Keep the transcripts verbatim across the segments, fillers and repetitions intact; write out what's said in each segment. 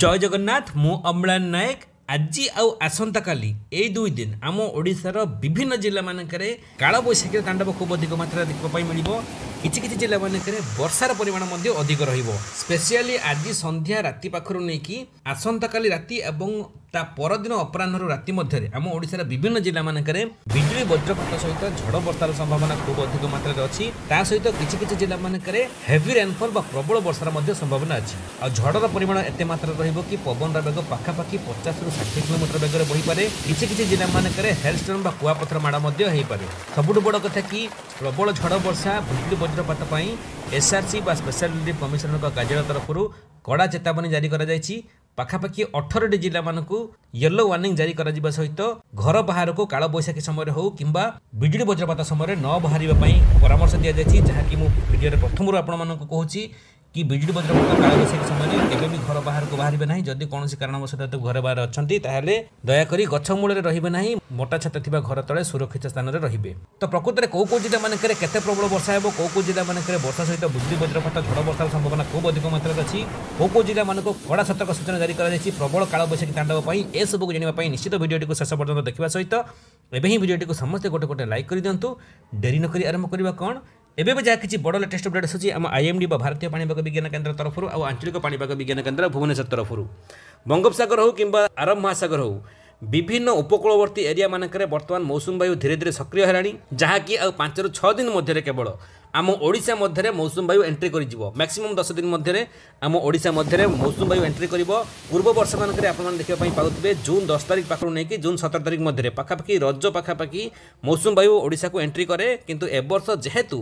ଜୟ ଜଗନ୍ନାଥ ମୁଁ ଅମ୍ଳାନ ନାୟକ ଆଜି ଆଉ ଆସନ୍ତାକାଲି ଏଇ ଦୁଇ ଦିନ ଆମ ଓଡ଼ିଶାର ବିଭିନ୍ନ ଜିଲ୍ଲାମାନଙ୍କରେ କାଳବୈଶାଖୀର ତାଣ୍ଡବ ଖୁବ୍ ଅଧିକ ମାତ୍ରାରେ ଦେଖିବା ପାଇଁ ମିଳିବ କିଛି କିଛି ଜିଲ୍ଲାମାନଙ୍କରେ ବର୍ଷାର ପରିମାଣ ମଧ୍ୟ ଅଧିକ ରହିବ ସ୍ପେସିଆଲି ଆଜି ସନ୍ଧ୍ୟା ରାତି ପାଖରୁ ନେଇକି ଆସନ୍ତାକାଲି ରାତି ଏବଂ ତା ପରଦିନ ଅପରାହ୍ନରୁ ରାତି ମଧ୍ୟରେ ଆମ ଓଡ଼ିଶାର ବିଭିନ୍ନ ଜିଲ୍ଲାମାନଙ୍କରେ ବିଜୁଳି ବଜ୍ରପାତ ସହିତ ଝଡ଼ ବର୍ଷାର ସମ୍ଭାବନା ଖୁବ୍ ଅଧିକ ମାତ୍ରାରେ ଅଛି ତା ସହିତ କିଛି କିଛି ଜିଲ୍ଲାମାନଙ୍କରେ ହେଭି ରେନଫଲ୍ ବା ପ୍ରବଳ ବର୍ଷାର ମଧ୍ୟ ସମ୍ଭାବନା ଅଛି ଆଉ ଝଡ଼ର ପରିମାଣ ଏତେ ମାତ୍ରାରେ ରହିବ କି ପବନର ବେଗ ପାଖାପାଖି ପଚାଶରୁ ଷାଠିଏ କିଲୋମିଟର ବେଗରେ ବହିପାରେ କିଛି କିଛି ଜିଲ୍ଲାମାନଙ୍କରେ ହେଲଷ୍ଟର୍ମ ବା କୁଆପଥର ମାଡ଼ ମଧ୍ୟ ହେଇପାରେ ସବୁଠୁ ବଡ଼ କଥା କି ପ୍ରବଳ ଝଡ଼ ବର୍ଷା ବିଜୁଳି ବଜ୍ରପାତ ପାଇଁ ଏସ୍ଆର୍ସି ବା ସ୍ପେଶାଲ ରିଲିଫ୍ କମିଶନରଙ୍କ କାର୍ଯ୍ୟାଳୟ ତରଫରୁ କଡ଼ା ଚେତାବନୀ ଜାରି କରାଯାଇଛି ପାଖାପାଖି ଅଠରଟି ଜିଲ୍ଲାମାନଙ୍କୁ ୟେଲୋ ୱାର୍ଣ୍ଣିଂ ଜାରି କରାଯିବା ସହିତ ଘର ବାହାରକୁ କାଳବୈଶାଖୀ ସମୟରେ ହେଉ କିମ୍ବା ବିଜୁଳି ବଜ୍ରପାତ ସମୟରେ ନ ବାହାରିବା ପାଇଁ ପରାମର୍ଶ ଦିଆଯାଇଛି ଯାହାକି ମୁଁ ଭିଡ଼ିଓରେ ପ୍ରଥମରୁ ଆପଣମାନଙ୍କୁ କହୁଛି କି ବିଜୁଳି ବଜ୍ରପାତ କାଳବୈଶାଖୀ ସମୟରେ କେବେ ବି ଘର ବାହାରକୁ ବାହାରିବେ ନାହିଁ ଯଦି କୌଣସି କାରଣବଶତଃ ଘର ବାହାରେ ଅଛନ୍ତି ତାହେଲେ ଦୟାକରି ଗଛ ମୂଳରେ ରହିବେ ନାହିଁ ମୋଟା ଛାତ ଥିବା ଘର ତଳେ ସୁରକ୍ଷିତ ସ୍ଥାନରେ ରହିବେ ତ ପ୍ରକୃତରେ କେଉଁ କେଉଁ ଜିଲ୍ଲାମାନଙ୍କରେ କେତେ ପ୍ରବଳ ବର୍ଷା ହେବ କେଉଁ କେଉଁ ଜିଲ୍ଲାମାନଙ୍କରେ ବର୍ଷା ସହିତ ବିଜୁଳି ବଜ୍ରପାତ ଝଡ଼ ବର୍ଷାର ସମ୍ଭାବନା ଖୁବ୍ ଅଧିକ ମାତ୍ରାରେ ଅଛି କେଉଁ କେଉଁ ଜିଲ୍ଲାମାନଙ୍କୁ କଡ଼ା ସତର୍କ ସୂଚନା ଜାରି କରାଯାଇଛି ପ୍ରବଳ କାଳବୈଶାଖୀ ତାଣ୍ଡବ ପାଇଁ ଏସବୁକୁ ଜାଣିବା ପାଇଁ ନିଶ୍ଚିତ ଭିଡ଼ିଓଟିକୁ ଶେଷ ପର୍ଯ୍ୟନ୍ତ ଦେଖିବା ସହିତ ଏବେ ହିଁ ଭିଡ଼ିଓଟିକୁ ସମସ୍ତେ ଗୋଟେ ଗୋଟେ ଲାଇକ୍ କରିଦିଅନ୍ତୁ ଡେରି ନକରି ଆରମ୍ଭ କରିବା କ'ଣ ଏବେ ବି ଯାହା କିଛି ବଡ଼ ଲେଟେଷ୍ଟ ଅପଡେଟ୍ ଆସୁଛି ଆମ ଆଇଏମ୍ଡି ବା ଭାରତୀୟ ପାଣିପାଗ ବିଜ୍ଞାନ କେନ୍ଦ୍ର ତରଫରୁ ଆଉ ଆଞ୍ଚଳିକ ପାଣିପାଗ ବିଜ୍ଞାନ କେନ୍ଦ୍ର ଭୁବନେଶ୍ୱର ତରଫରୁ ବଙ୍ଗୋପସାଗର ହେଉ କିମ୍ବା ଆରବ ମହାସାଗର ହେଉ ବିଭିନ୍ନ ଉପକୂଳବର୍ତ୍ତୀ ଏରିଆମାନଙ୍କରେ ବର୍ତ୍ତମାନ ମୌସୁମୀ ବାୟୁ ଧୀରେ ଧୀରେ ସକ୍ରିୟ ହେଲାଣି ଯାହାକି ଆଉ ପାଞ୍ଚରୁ ଛଅ ଦିନ ମଧ୍ୟରେ କେବଳ ଆମ ଓଡ଼ିଶା ମଧ୍ୟରେ ମୌସୁମୀ ବାୟୁ ଏଣ୍ଟ୍ରି କରିଯିବ ମ୍ୟାକ୍ସିମମ୍ ଦଶ ଦିନ ମଧ୍ୟରେ ଆମ ଓଡ଼ିଶା ମଧ୍ୟରେ ମୌସୁମୀ ବାୟୁ ଏଣ୍ଟ୍ରି କରିବ ପୂର୍ବ ବର୍ଷମାନଙ୍କରେ ଆପଣମାନେ ଦେଖିବା ପାଇଁ ପାଉଥିବେ ଜୁନ୍ ଦଶ ତାରିଖ ପାଖରୁ ନେଇକି ଜୁନ୍ ସତର ତାରିଖ ମଧ୍ୟରେ ପାଖାପାଖି ରଜ ପାଖାପାଖି ମୌସୁମୀ ବାୟୁ ଓଡ଼ିଶାକୁ ଏଣ୍ଟ୍ରି କରେ କିନ୍ତୁ ଏବର୍ଷ ଯେହେତୁ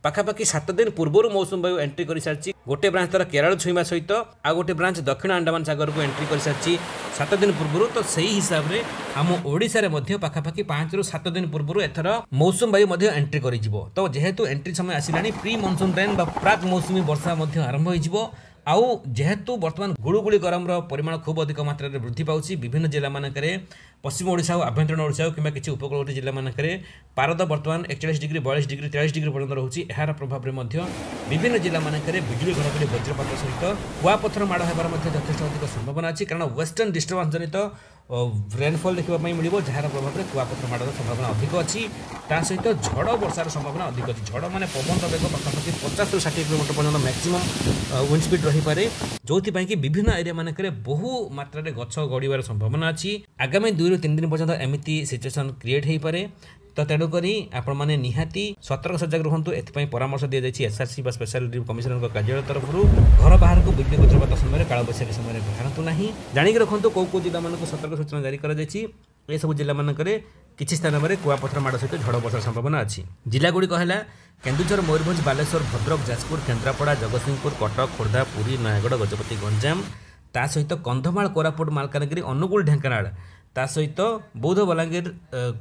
ପାଖାପାଖି ସାତ ଦିନ ପୂର୍ବରୁ ମୌସୁମୀ ବାୟୁ ଏଣ୍ଟ୍ରି କରିସାରିଛି ଗୋଟେ ବ୍ରାଞ୍ଚ ତାର କେରଳ ଛୁଇଁବା ସହିତ ଆଉ ଗୋଟେ ବ୍ରାଞ୍ଚ ଦକ୍ଷିଣ ଆଣ୍ଡାମାନ ସାଗରକୁ ଏଣ୍ଟ୍ରି କରିସାରିଛି ସାତ ଦିନ ପୂର୍ବରୁ ତ ସେଇ ହିସାବରେ ଆମ ଓଡ଼ିଶାରେ ମଧ୍ୟ ପାଖାପାଖି ପାଞ୍ଚରୁ ସାତ ଦିନ ପୂର୍ବରୁ ଏଥର ମୌସୁମୀ ବାୟୁ ମଧ୍ୟ ଏଣ୍ଟ୍ରି କରିଯିବ ତ ଯେହେତୁ ଏଣ୍ଟ୍ରି ସମୟ ଆସିଲାଣି ପ୍ରି ମନସୁନ୍ ରେନ୍ ବା ପ୍ରାକ୍ ମୌସୁମୀ ବର୍ଷା ମଧ୍ୟ ଆରମ୍ଭ ହୋଇଯିବ ଆଉ ଯେହେତୁ ବର୍ତ୍ତମାନ ଗୁଳୁଗୁଳି ଗରମର ପରିମାଣ ଖୁବ୍ ଅଧିକ ମାତ୍ରାରେ ବୃଦ୍ଧି ପାଉଛି ବିଭିନ୍ନ ଜିଲ୍ଲାମାନଙ୍କରେ ପଶ୍ଚିମ ଓଡ଼ିଶା ହେଉ ଆଭ୍ୟନ୍ତରୀଣ ଓଡ଼ିଶା ହେଉ କିମ୍ବା କିଛି ଉପକୂଳବର୍ତ୍ତୀ ଜିଲ୍ଲାମାନଙ୍କରେ ପାରଦ ବର୍ତ୍ତମାନ ଏକଚାଳିଶ ଡିଗ୍ରୀ ବୟାଳିଶ ଡିଗ୍ରୀ ତେୟାଳିଶ ଡିଗ୍ରୀ ପର୍ଯ୍ୟନ୍ତ ରହୁଛି ଏହାର ପ୍ରଭାବରେ ମଧ୍ୟ ବିଭିନ୍ନ ଜିଲ୍ଲାମାନଙ୍କରେ ବିଜୁଳି ଘଡ଼ଘଡ଼ି ବଜ୍ରପାତ ସହିତ କୁଆପଥର ମାଡ଼ ହେବାର ମଧ୍ୟ ଯଥେଷ୍ଟ ଅଧିକ ସମ୍ଭାବନା ଅଛି କାରଣ ୱେଷ୍ଟର୍ଣ୍ଣ ଡିଷ୍ଟର୍ବାନ୍ସ ଜନିତ ରେନଫଲ୍ ଦେଖିବା ପାଇଁ ମିଳିବ ଯାହାର ପ୍ରଭାବରେ କୁଆପଥର ମାଡ଼ର ସମ୍ଭାବନା ଅଧିକ ଅଛି ତା ସହିତ ଝଡ଼ ବର୍ଷାର ସମ୍ଭାବନା ଅଧିକ ଅଛି ଝଡ଼ ମାନେ ପବନର ବେଗ ପାଖାପାଖି ପଚାଶରୁ ଷାଠିଏ କିଲୋମିଟର ପର୍ଯ୍ୟନ୍ତ ମ୍ୟାକ୍ସିମମ୍ ୱିଣ୍ଡ ସ୍ପିଡ୍ ରହିପାରେ ଯେଉଁଥିପାଇଁ କି ବିଭିନ୍ନ ଏରିଆମାନଙ୍କରେ ବହୁ ମାତ୍ରାରେ ଗଛ ଗଡ଼ିବାର ସମ୍ଭାବନା ଅଛି ଆଗାମୀ ଦୁଇରୁ ତିନି ଦିନ ପର୍ଯ୍ୟନ୍ତ ଏମିତି ସିଚୁଏସନ୍ କ୍ରିଏଟ୍ ହୋଇପାରେ ତ ତେଣୁକରି ଆପଣମାନେ ନିହାତି ସତର୍କ ସଜାଗ ରୁହନ୍ତୁ ଏଥିପାଇଁ ପରାମର୍ଶ ଦିଆଯାଇଛି ଏସ୍ଆର୍ସି ବା ସ୍ପେଶାଲ ରିଲିଫ୍ କମିଶନରଙ୍କ କାର୍ଯ୍ୟାଳୟ ତରଫରୁ ଘର ବାହାରକୁ ବିଜୁଳି ବଜ୍ରପାତ ସମୟରେ କାଳବୈଶାଖୀ ସମୟରେ ବାହାରନ୍ତୁ ନାହିଁ ଜାଣିକି ରଖନ୍ତୁ କେଉଁ କେଉଁ ଜିଲ୍ଲାମାନଙ୍କୁ ସତର୍କ ସୂଚନା ଜାରି କରାଯାଇଛି ଏସବୁ ଜିଲ୍ଲାମାନଙ୍କରେ କିଛି ସ୍ଥାନରେ କୁଆପଥର ମାଡ଼ ସହିତ ଝଡ଼ ବର୍ଷାର ସମ୍ଭାବନା ଅଛି ଜିଲ୍ଲାଗୁଡ଼ିକ ହେଲା କେନ୍ଦୁଝର ମୟୂରଭଞ୍ଜ ବାଲେଶ୍ୱର ଭଦ୍ରକ ଯାଜପୁର କେନ୍ଦ୍ରାପଡ଼ା ଜଗତସିଂହପୁର କଟକ ଖୋର୍ଦ୍ଧା ପୁରୀ ନୟାଗଡ଼ ଗଜପତି ଗଞ୍ଜାମ ତା ସହିତ କନ୍ଧମାଳ କୋରାପୁଟ ମାଲକାନଗିରି ଅନୁଗୁଳ ଢେଙ୍କାନାଳ ତା ସହିତ ବୌଦ୍ଧ ବଲାଙ୍ଗୀର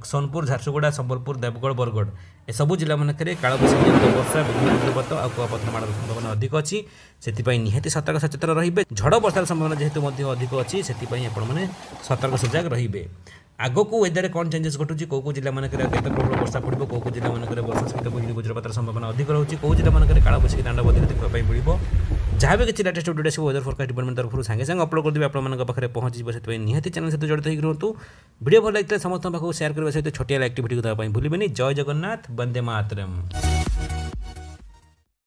ସୋନପୁର ଝାରସୁଗୁଡ଼ା ସମ୍ବଲପୁର ଦେବଗଡ଼ ବରଗଡ଼ ଏସବୁ ଜିଲ୍ଲାମାନଙ୍କରେ କାଳବୈଶାଖୀ ଜନିତ ବର୍ଷା ବିଜୁଳି ବଜ୍ରପାତ ଆଉ କୁଆପଥର ମାଡ଼ର ସମ୍ଭାବନା ଅଧିକ ଅଛି ସେଥିପାଇଁ ନିହାତି ସତର୍କ ସଚେତନ ରହିବେ ଝଡ଼ ବର୍ଷାର ସମ୍ଭାବନା ଯେହେତୁ ମଧ୍ୟ ଅଧିକ ଅଛି ସେଥିପାଇଁ ଆପଣମାନେ ସତର୍କ ସଜାଗ ରହିବେ ଆଗକୁ ୱେଦରରେ କ'ଣ ଚେଞ୍ଜେସ୍ ଘଟୁଛି କେଉଁ କେଉଁ ଜିଲ୍ଲାମାନଙ୍କରେ କେତେ ପ୍ରବଳ ବର୍ଷା ପଡ଼ିବ କେଉଁ କେଉଁ ଜିଲ୍ଲାମାନଙ୍କରେ ବର୍ଷା ସହିତ ବିଜୁଳି ବଜ୍ରପାତର ସମ୍ଭାବନା ଅଧିକ ରହୁଛି କେଉଁ ଜିଲ୍ଲାମାନଙ୍କରେ କାଳବୈଶାଖୀ ତାଣ୍ଡବ ଅଧିକ ଦେଖିବା ପାଇଁ ମିଳିବ ଯାହା ବି କିଛି ଲାଟେଷ୍ଟ ଅପଡେଟ୍ ଆସିବ ୱେଦର ଫୋରକାଷ୍ଟ ଡିପାର୍ଟମେଣ୍ଟ ତରଫରୁ ସାଙ୍ଗେ ସାଙ୍ଗେ ଅପଲୋଡ଼ କରିଦେବି ଆପଣମାନଙ୍କ ପାଖରେ ପହଞ୍ଚିଯିବ ସେଥିପାଇଁ ନିହାତି ଚ୍ୟାନେଲ୍ ସହିତ ଜଡ଼ିତ ହେଇକି ରୁହନ୍ତୁ ଭିଡ଼ିଓ ଭଲ ଲାଗିଥିଲେ ସମସ୍ତଙ୍କ ପାଖକୁ ସେୟାର କରିବା ସହିତ ଛୋଟିଆ ଲାଇକ୍ ଭିଡ଼ିଓ ଦେବା ପାଇଁ ଭୁଲିବେନି ଜୟ ଜଗନ୍ନାଥ ବନ୍ଦେ ମାତରମ୍